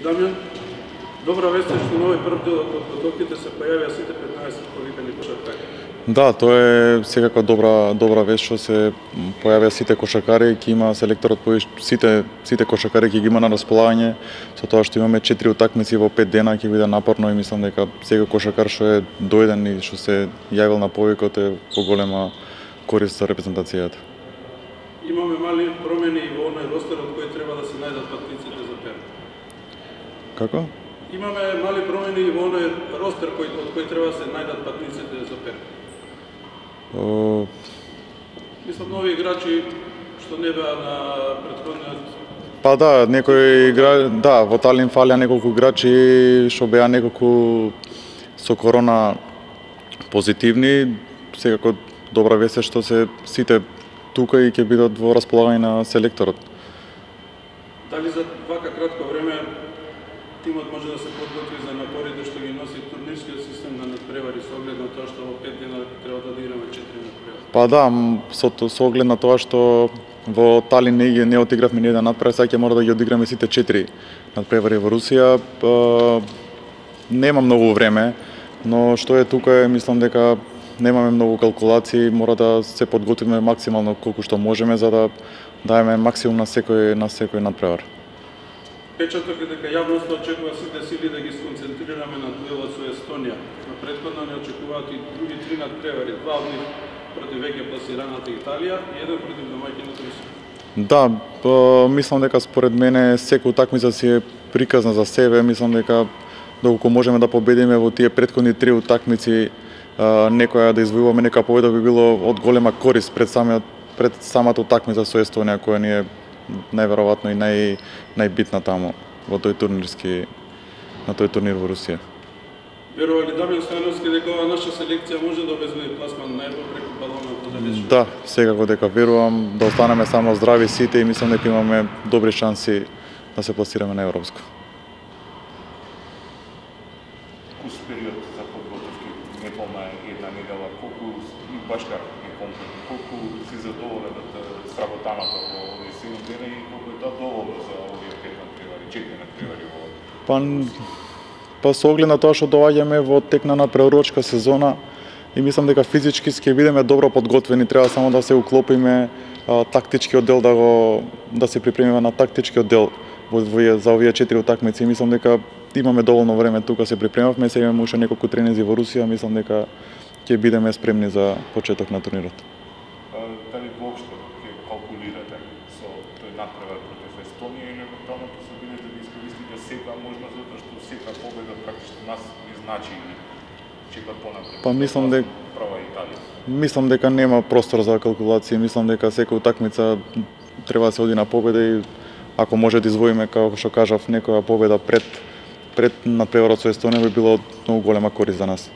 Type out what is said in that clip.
Дамјан, добра вест е што нови прв дел од подготовките се појавија сите 15 повикани кошаркари. Да, тоа е секако добра вест што се појавија сите кошаркари, ќе има селекторот сите кошаркари ќе ги има на располагање, со тоа што имаме 4 утакмици во 5 дена ќе биде напорно и мислам дека секој кошаркар што е дојден и што се јавил на повикот е по голема корист за репрезентацијата. Имаме мали промени и во оној ростер од кој треба да се најдат патниците за Перник. Како? Имаме мали промени и во оној ростер од кој треба да се најдат патниците за Перник. Мислам нови играчи што не беа на претходниот. Па да, во Талин фалија неколку играчи што беа неколку со корона позитивни, секако добра вест е што се сите тука и ќе бидат во располагање на селекторот. Дали за вака кратко време тимот може да се подготви за напорите што ги носи турнирскиот систем на надпревари со оглед на тоа што во 5 дена треба да одиграме 4 надпревари? Па да, со оглед на тоа што во Талин не одигравме ни еден надпревар, сега ќе мора да ги одиграме сите 4 надпревари во Русија. Нема многу време, но што е тука мислам дека немаме многу калкулации, мора да се подготвиме максимално колку што можеме за да даеме максимум на секој надпревар. Печаток е дека јавноста очекува сите сили да ги сконцентрираме на дуелот со Естонија. Но претходно не очекуваат и други 3 надпревари, 2 од нив против веќе пласираната Италија и еден против домаќината Русија. Да, мислам дека според мене секоја утакмица си е приказна за себе, мислам дека доколку можеме да победиме во тие претходни 3 утакмици, некоја да извојуваме нека победа би било од голема корист пред самата утакмица со Естонија, која ни е најверојатно и најбитна таму на тој турнир во Русија. Верува ли Дамјан Стојановски дека ова наша селекција може да обезбеди пласман на Европа преку балонот во далечното? Да, секако дека верувам да останеме само здрави сите и мислам дека имаме добри шанси да се пласираме на европско. Кус период за подготовки, неполна една недела, колку и башка е комплетно, колку си задоволен од сработаната во овие 7 дена и колку е тоа доволно за овие 5 надпревари, 4 надпревари во Па со оглед на тоа што доаѓаме во тек на надпреварувачка сезона и мислам дека физички ќе бидеме добро подготвени, треба само да се уклопиме тактичкиот дел да се припремиме на тактичкиот дел за овие 4 утакмици. Мислам дека имаме доволно време тука се припремавме, сега имаме уште неколку тренинзи во Русија, мислам дека ќе бидеме спремни за почеток на турнирот. Дали воопшто ќе калкулирате со тој надпревар против Естонија или евентуално ќе се бидете да искористите секоја можност затоа што секоја победа практично нас ни значи или чека понапред? Па мислам дека нема простор за калкулации, мислам дека секоја утакмица треба да се оди на победа и ако може да извоиме, како што кажав, некоја победа пред надпреварот со Естонија би било од многу голема корист за нас.